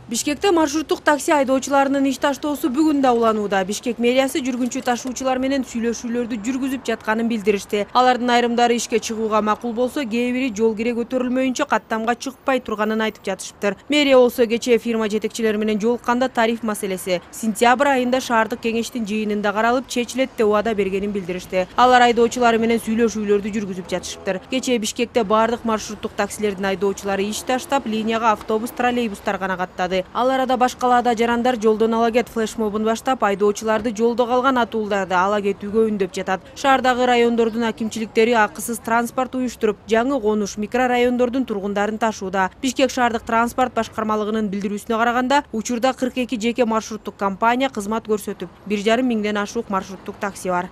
Бишкекте маршруттук такси айдоочуларынын иш таштоосу бүгүн да уланууда. Бишкек мэриясы жүргүнчү ташуучулар менен сүйлөшүүлөрдү жүргүзүп жатканын билдиришти. Алардын айрымдары ишке чыгууга макул болсо, кээ бири жол кире көтөрүлмөйүнчө каттамга чыкпай турганын айтып жатышыптыр. Мэрия болсо кечээ фирма жетекчилери менен жолукканда тариф маселеси сентябрь айында шаардык кеңештин жыйынында каралып, чечилет деп убада бергенин билдиришти. Алар айдоочулары менен сүйлөшүүлөрдү жүргүзүп жатышыптыр. Кечээ Бишкекте бардык маршруттук таксилердин айдоочулары иш таштап, линияга автобус, троллейбустар гана каттады. Ал арада башкалаада жарандар жолдон ала кет флешмобун баштап, айдоочуларды жолдо калган атуулдарды ала кетүүгө үндөп жатат. Шаардагы райондордун акимчиликтери акысыз транспорт уюштуруп, жаңы конуш микрорайондордун тургундарын ташууда. Бишкек шаардык транспорт башкармалыгынын билдирүүсүнө караганда, учурда 42 жеке маршруттук компания кызмат көрсөтүп, 1,5 миңден ашук маршруттук такси бар.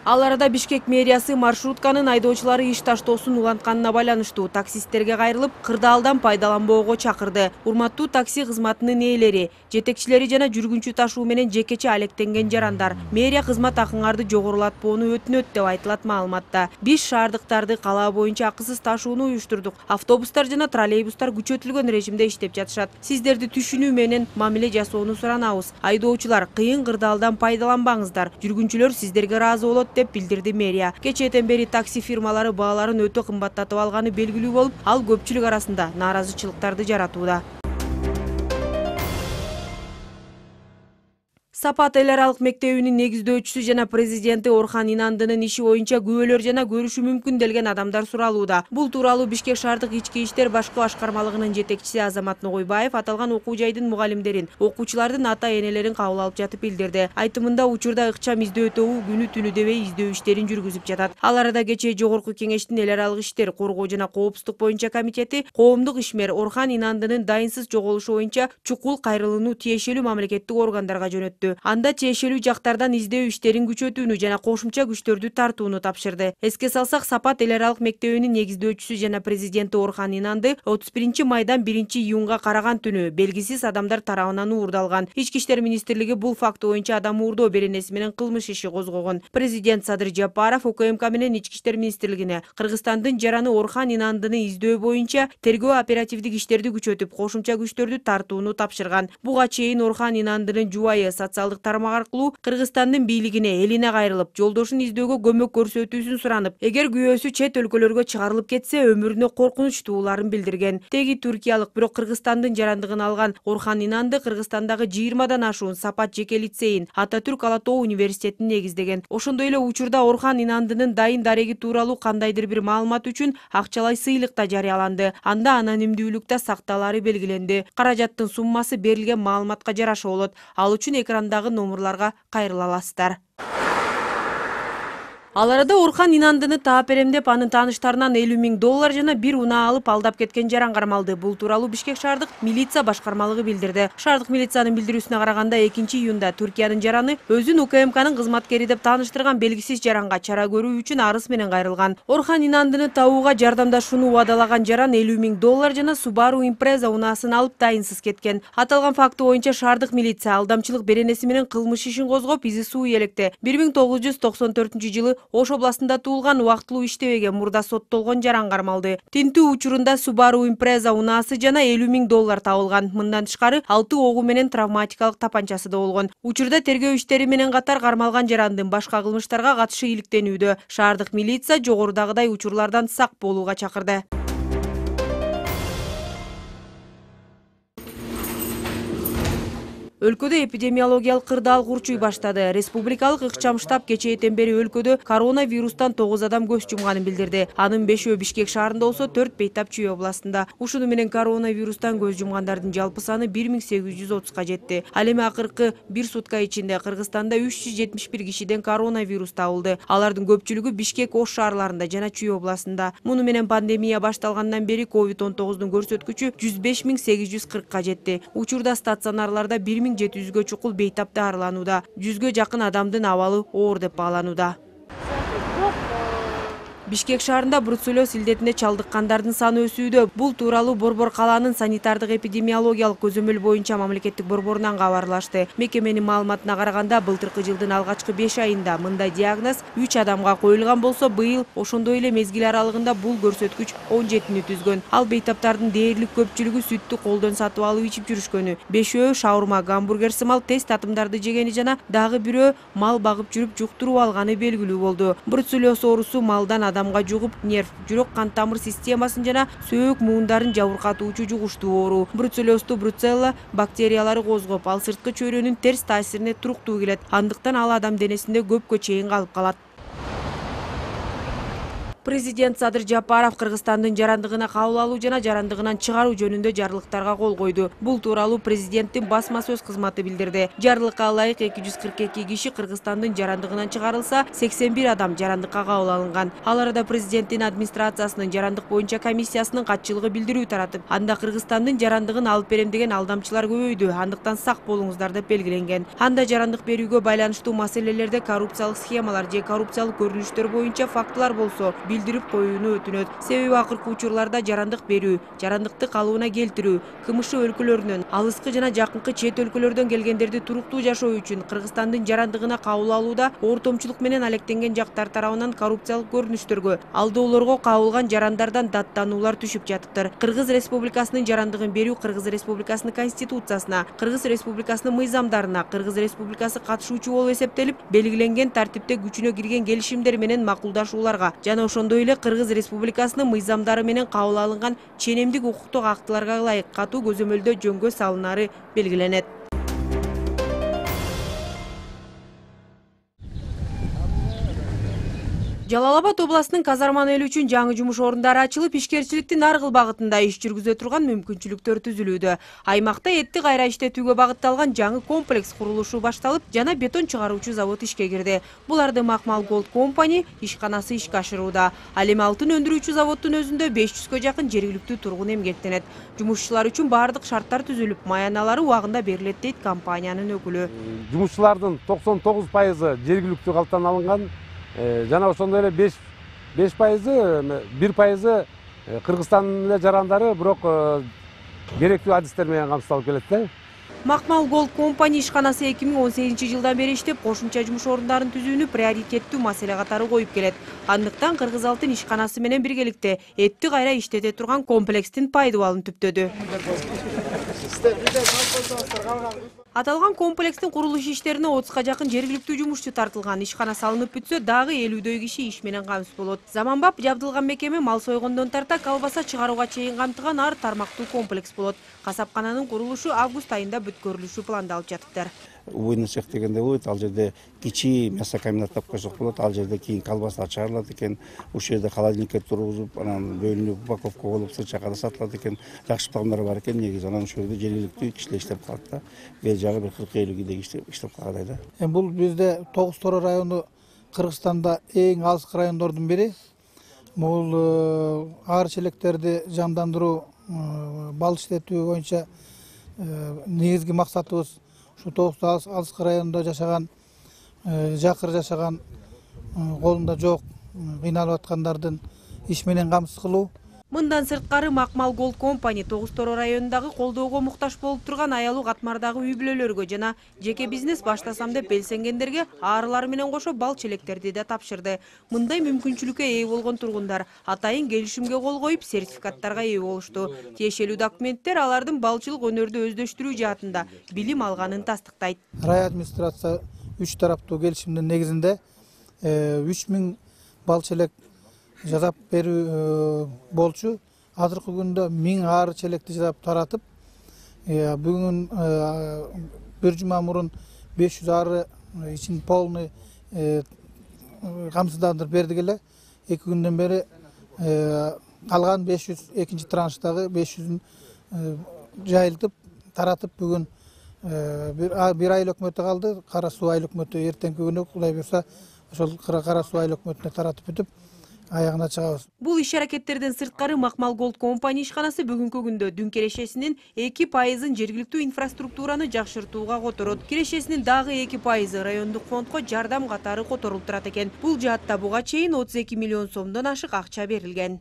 Ал арада Бишкек мэриясы маршрутканын айдоочулары иш таштоосун улантканына байланыштуу таксисттерге кайрылып, кырдаалдан пайдаланбоого чакырды. Урматтуу такси кызматынын ээлери, жетекчилери жана жүргүнчү ташуу менен жекече алектенген жарандар, мэрия кызмат акыңарды жогорулатпоону өтүнөт деп айтылат маалыматта. Биз шаардыктарды калаа боюнча акысыз ташууну уюштурдук. Автобустар жана троллейбустар күчөтүлгөн режимде иштеп жатышат. Сиздерди түшүнүү менен мамиле жасоону суранабыз. Айдоочулар, кыйын кырдаалдан пайдаланбаңыздар. Жүргүнчүлөр сиздерге ыраазы болот деп билдирди мэрия. Кечээден бери такси фирмалары бааларын өтө кымбаттатып алганы белгилүү болуп, ал көпчүлүк арасында нааразычылыктарды жаратууда. Сапат эл аралык мектебинин негиздөөчүсү жана президенти Орхан Инандынын иши боюнча күбөлөр жана көрүшү мүмкүнделген адамдар суралууда. Бул тууралуу Бишкек шаардык ички иштер башкы башкармалыгынын жетекчиси Азамат Ногойбаев аталган окуу жайдын мугалимдерин, окуучулардын ата-энелерин кабыл алып жатып билдирди. Айтымында, учурда ыкчам издөө тобу күнү-түнү дебей издөө иштерин жүргүзүп жатат. Ал арада кечээ Жогорку кеңештин эл аралык иштер, коргоо жана коопсуздук боюнча комитети коомдук ишмер Орхан Инандынын дайынсыз жоголушу боюнча чукул кайрылууну тиешелүү мамлекеттик органдарга жөнөттү. Анда тиешелүү жактардан издөө иштерин күчөтүүнү жана кошумча күчтөрдү тартууну тапшырды. Эске салсак, Сапат эл аралык мектебинин негиздөөчүсү жана президенти Орхан Инанды 31 майдан 1 июнга караган түнү белгисиз адамдар тарабынан уурдалган. Ички иштер министрлиги бул факты боюнча адам уурдоо беренеси менен кылмыш иши козгогон. Президент Садыр Жапаров УКМК менен ички иштер министрлигине Кыргызстандын жараны Орхан Инандыны издөө боюнча тергөө оперативдик иштерди күчөтүп, кошумча күчтөрдү тартууну тапшырган. Буга чейин Орхан Инандынын жубайы социалдык тармак аркылуу Кыргызстандын бийлигине, элине кайрылып, жолдошун издөөгө көмөк көрсөтүүсүн суранып, эгер күбөсү чет өлкөлөргө чыгарылып кетсе, өмүрүнө коркунуч тууларын билдирген. Теги түркиялык, бирок Кыргызстандын жарандыгын алган Орхан Инанды Кыргызстандагы 20дан ашуун Сапат жеке лицейин, Ататүрк Ала Тоо университетин негиздеген. Ошондой эле учурда Орхан Инандынын дайын дареги тууралуу кандайдыр бир маалымат үчүн акчалай сыйлык да жарыяланды. Анда анонимдүүлүктө сакталаары белгиленди. Каражаттын суммасы берилген маалыматка жараша болот. Ал үчүн экрандагы номерларга кайрыла аласыздар. Ал арада Орхан Инандыны таап берем деп анын тааныштарынан $50 000 жана бир унаа алып алдап кеткен жаран кармалды. Бул тууралуу Бишкек шаардык милиция башкармалыгы билдирди. Шаардык милициянын билдирүүсүнө караганда, 2 июнда Түркиянын жараны өзүн УКМКнын кызматкери деп тааныштырган белгисиз жаранга чара көрүү үчүн арыз менен кайрылган. Орхан Инандыны табууга жардамдашууну убадалаган жаран $50 000 жана Subaru Impreza унаасын алып дайынсыз кеткен. Аталган факты боюнча шаардык милиция алдамчылык беренеси менен кылмыш ишин козгоп, изи суу электе 1994 Ош областында туулган, убактылуу иштебеген, мурда соттолгон жаран кармалды. Тинтүү учурунда Subaru Impreza унаасы жана $50 000 табылган. Мындан тышкары 6 огу менен травматикалык тапанчасы да болгон. Учурда тергөө иштери менен катар кармалган жарандын башка кылмыштарга катышы иликтенүүдө. Шаардык милиция жогорудагыдай учурлардан сак болууга чакырды. Өлкөдө эпидемиологиялык кырдаал курчуй баштады. Республикалык ыкчам штаб кечээден бери өлкөдө коронавирустан 9 адам көз жумганын билдирди. Анын 5-өө Бишкек шаарында болсо, 4 Бейтап Чүй областында. Ушуну менен коронавирустан көз жумгандардын жалпы саны 1830га жетти. Ал эми акыркы 1 сутка ичинде Кыргызстанда 371 кишиден коронавирус табылды. Алардын көпчүлүгү Бишкек, Ош шаарларында жана Чүй областында. Муну менен пандемия башталгандан бери COVID-19 көрсөткүчү 105 840га жетти. Учурда стационарларда 1700гө чукул бейтап дарыланууда. 100гө жакын адамдын абалы оор деп бааланууда. Бишкек шаарында бруцеллез илдетине чалдыккандардын саны өсүүдө. Бул тууралуу Борбор калаанын санитардык эпидемиологиялык көзөмөл боюнча мамлекеттик борборунан кабарлашты. Мекеменин маалыматына караганда, былтыркы жылдын алгачкы 5 айында мындай диагноз 3 адамга коюлган болсо, быйыл ошондой эле мезгил аралыгында бул көрсөткүч 17-ни түзгөн. Ал бейтаптардын дээрлик көпчүлүгү сүттү колдон сатып алып ичип жүрүшкөнү. 5өө шаурма, гамбургер сымал тест татымдарды жегени жана дагы бирөө мал багып жүрүп жуктуруп алганы белгилүү болду. Бруцеллез оорусу малдан адамга жугуп, нерв, жүрөк кан тамыр системасын жана сөөк муундарын жабыркатуучу жугуштуу оору. Бруцеллезду бруцелла бактериялары козгоп, ал сырткы чөйрөнүн терс таасирине туруктуу келет. Андыктан ал адам денесинде көпкө чейин калып калат. Президент Садыр Жапаров Кыргызстандын жарандыгына кабыл алуу жана жарандыгынан чыгаруу жөнүндө жарлыктарга кол койду. Бул тууралуу президенттин басма сөз кызматы билдирди. Жарлыкка ылайык 242 киши Кыргызстандын жарандыгынан чыгарылса, 81 адам жарандыкка кабыл алынган. Ал арада президенттин администрациясынын жарандык боюнча комиссиясынын катчылыгы билдирүү таратып, анда Кыргызстандын жарандыгын алып берем деген алдамчылар көбөйдү. Андыктан сак болуңуздар деп белгиленген. Анда жарандык берүүгө байланыштуу маселелерде коррупциялык схемалар же коррупциялык көрүнүштөр боюнча фактылар болсо, билдирип коюуну өтүнөт. Себеби акыркы учурларда жарандык берүү, жарандыкты калыбына келтирүү, КМШ өлкөлөрүнөн, алыскы жана жакынкы чет өлкөлөрдөн келгендерди туруктуу жашоо үчүн Кыргызстандын жарандыгына кабыл алууда ортомчулук менен алектенген жактар тарабынан коррупциялык көрүнүштөргө, алдоолорго кабылган жарандардан даттануулар түшүп жатыптыр. Кыргыз Республикасынын жарандыгын берүү Кыргыз Республикасынын Конституциясына, Кыргыз Республикасынын мыйзамдарына, Кыргыз Республикасы катышуучу болуп эсептелип, белгиленген тартипте күчүнө кирген келишимдер менен макулдашууларга жана ошондой эле Кыргыз Республикасынын мыйзамдары менен кабыл алынган ченемдик укуктук актыларга ылайык катуу көзөмөлдө жөнгө салынары белгиленет. Жалал Абад областынын казарман эл үчүн жаңы жумуш орундары ачылып, ишкерчиликтин ар кыл багытында иш жүргүзө турган мүмкүнчүлүктөр түзүлүүдө. Аймакта этти кайра иштетүүгө багытталган жаңы комплекс курулушу башталып, жана бетон чыгаруучу завод ишке кирди. Буларды Макмал Gold Company ишканасы ишке ашырууда. Ал эми алтын өндүрүүчү заводдун өзүндө 500гө жакын жергиликтүү тургун эмгектенет. Жумушчулар үчүн баардык шарттар түзүлүп, маяналары убагында берилет дейт компаниянын өкүлү. Жумушчулардын 99% жергиликтүү калыптан алынган. Жана ошондой эле 5% 1% Кыргызстандын эле жарандары, бирок керектүү адистер менен камсыздалып келет да. Макмал Gold Company ишканасы 2018 жылдан бери иштеп, кошумча жумуш орундарын түзүүнү приоритеттүү маселе катары коюп келет. Андыктан Кыргыз алтын ишканасы менен биргеликте этти кайра иштете турган комплекстин пайдубалын түптөдү. Аталган комплекстин курулуш иштерине 30га жакын жергиликтүү жумушчу тартылган. Ишкана салынып бүтсө, дагы 50дөй киши иш менен камсыз болот. Заманбап жабдылган мекеме мал сойгондон тарта колбаса чыгарууга чейин камтыган ар тармактуу комплекс болот. Касапкананын курулушу август айында бүткөрүлүшү пландалып жатыптыр. Убойный цех дегенде болот, ал жерде кичи мясокомбинат деп койсок болот, ал жерде кийин колбаса чыгарылат экен, ушул жерде холодильникке тургузуп, анан бөлүнүп упаковка болуп СЧКда сатылат экен, жакшы пландар бар экен негизи. Анан ушул жерде жергиликтүү кишилер иштеп калат да, бери жагы бир 40-50 кийде иштеп калгандай да. Бул бизде Тогуз Торо району Кыргызстанда эң алыскы райондордун бири. Бул аар челектерди жандандыруу, бал иштетүү боюнча негизги максатыбыз ушу Тогуз алыскы районунда жашаган, жакыр жашаган, колунда жок, кыйналып аткандардын иш менен камсыз кылуу. Мындан сырткары Макмал Gold Company Тогуз Торо районундагы колдоого муктаж болуп турган аялуу катмардагы үй бүлөлөргө жана жеке бизнес баштасам деп белсенгендерге аарылар менен кошо бал челектерди да тапшырды. Мындай мүмкүнчүлүккө ээ болгон тургундар атайын келишимге кол коюп, сертификаттарга ээ болушту. Тиешелүү документтер алардын балчылык өнөрдү өздөштүрүү жаатында билим алганын тастыктайт. Рай администрация 3 тараптуу келишимдин негизинде 3000 бал челек жасап берүү болчу. Азыркы күндө 1000 аар челекти жасап таратып, бүгүн бир жума мурун 500 ары ичин полный камсыздандырып бердик эле. 2 күндөн бери калган 500 экинчи транштагы 500-ün жайылтып таратып, бүгүн бир айыл өкмөтү калды. Кара суу айыл өкмөтү эртеңки күнү Кудай буйрса ошол Кара суу айыл өкмөтүнө таратып бүтүп, аягына чыгабыз. Бул иш-аракеттерден сырткары Макмал Голд компания ишканасы бүгүнкү күндө дүң кирешесинин 2% жергиликтүү инфраструктураны жакшыртууга которот. Кирешесинин дагы 2% райондук фондко жардам катары которулуп турат экен. Бул жаатта буга чейин 32 миллион сомдон ашык акча берилген.